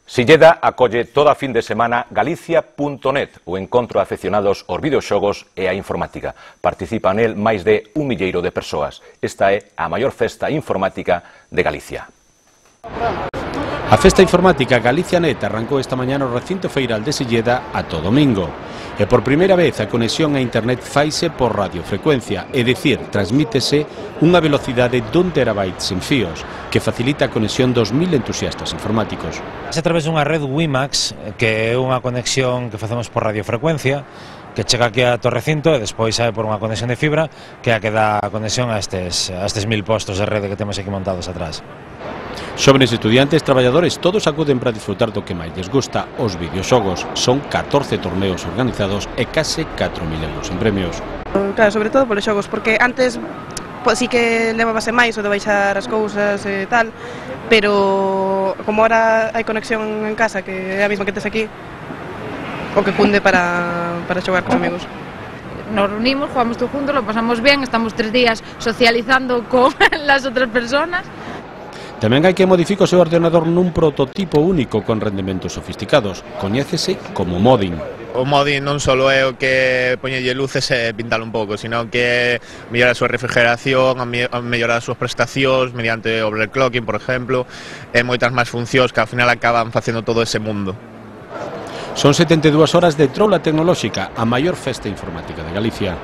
Silleda acolle toda fin de semana Galicia.net, o encontro de afeccionados aos videoxogos e a informática. Participan nel máis de 1 milleiro de persoas. Esta é a maior festa informática de Galicia. A festa informática Galicia.net arrancou esta mañá no recinto feiral de Silleda ata o domingo. E por primeira vez a conexión a internet faise por radiofrecuencia, é dicir, transmítese unha velocidade d'1 terabyte sen fíos, que facilita a conexión dos 1000 entusiastas informáticos. É a través dunha red WiMAX, que é unha conexión que facemos por radiofrecuencia, que chega aquí a todo recinto e despois sae por unha conexión de fibra, que é a que dá a conexión a estes 1000 postos de rede que temos aquí montados atrás. Xóvenes estudiantes, traballadores, todos acuden para disfrutar do que máis les gusta, os videoxogos. Son 14 torneos organizados e case 4.000 euros en premios. Claro, sobre todo polos xogos, porque antes sí que levabase máis o de baixar as cousas e tal, pero como ahora hai conexión en casa, que é a mesma que tes aquí, o que cunde para xogar cos amigos. Nos reunimos, jugamos todos juntos, lo pasamos bien, estamos 3 días socializando con las otras personas. Tamén hai que modificar o seu ordenador nun prototipo único con rendementos sofisticados. Coñécese como modding. O modding non só é o que poñelle luces e pintalo un pouco, sino que mellora a súa refrigeración, mellorar as súas prestacións mediante overclocking, por exemplo, e moitas máis funcións que ao final acaban facendo todo ese mundo. Son 72 horas de troula tecnolóxica, a maior festa informática de Galicia.